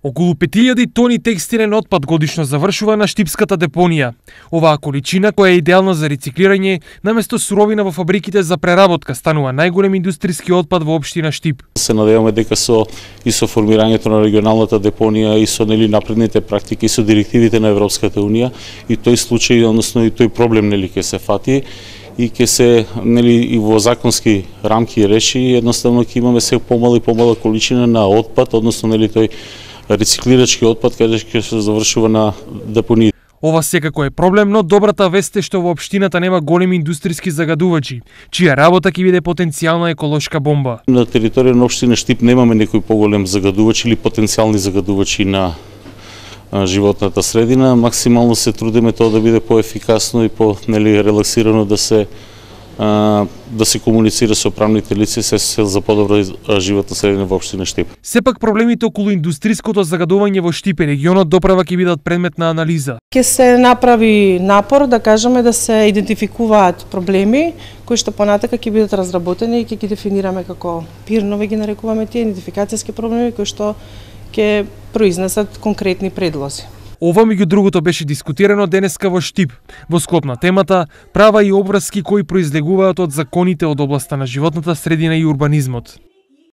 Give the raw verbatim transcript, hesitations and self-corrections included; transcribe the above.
Околу пет илјади тони текстилен отпад годишно завршува на штипската депонија. Оваа количина, која е идеална за рециклирање, наместо суровина во фабриките за преработка, станува најголем индустријски отпад во општина Штип. Се надеваме дека со и со формирањето на регионалната депонија и со нели напредните практики и со директивите на Европската унија и тој случај, односно и тој проблем нели ќе се фати и ќе се нели и во законски рамки реши, едноставно ќе имаме се помала и помала количина на отпад, односно нели тој рециклирачки отпад каде ќе се завршува на депонии. Ова секако е проблем, но добрата вест е што во општината нема големи индустријски загадувачи, чија работа ќе биде потенцијална еколошка бомба. На територија на општина Штип немаме некој поголем загадувач или потенцијални загадувачи на животната средина. Максимално се трудиме тоа да биде поефикасно и по нели релаксирано да се да се комуницира со правните лица се за подобра животна средина во општина Штип. Сепак проблемите околу индустријското загадување во Штип и регионот доправа ќе бидат предмет на анализа. Ќе се направи напор да кажеме да се идентификуваат проблеми кои што понатака ќе бидат разработени и ќе ги дефинираме како пирнови ги нарекуваме тие идентификацијски проблеми кои што ќе произнесат конкретни предлози. Ова меѓу другото беше дискутирано денеска во Штип, во склоп на темата права и обврски кои произлегуваат од законите од областа на животната средина и урбанизмот.